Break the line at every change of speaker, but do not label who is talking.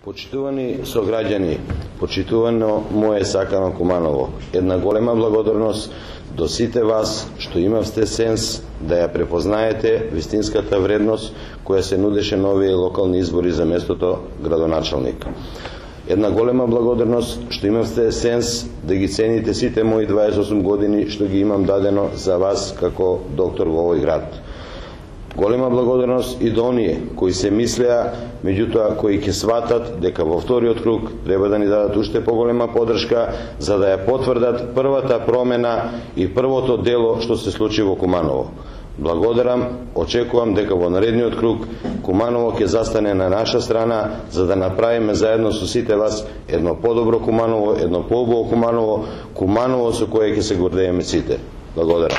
Почитувани сограѓани, почитувано мое сакано Куманово, една голема благодарност до сите вас што имавте сенс да ја препознаете вистинската вредност која се нудеше на овие локални избори за местото градоначалник. Една голема благодарност што имавте сенс да ги цените сите мои 28 години што ги имам дадено за вас како доктор во овој град. Голема благодарност и до оние кои се мислеа, меѓутоа кои ќе сватат дека во вториот круг треба да ни дадат уште поголема поддршка за да ја потврдат првата промена и првото дело што се случи во Куманово. Благодарам, очекувам дека во наредниот круг Куманово ќе застане на наша страна за да направиме заедно со сите вас едно подобро Куманово, едно поубаво Куманово, Куманово со кое ќе се гордееме сите. Благодарам.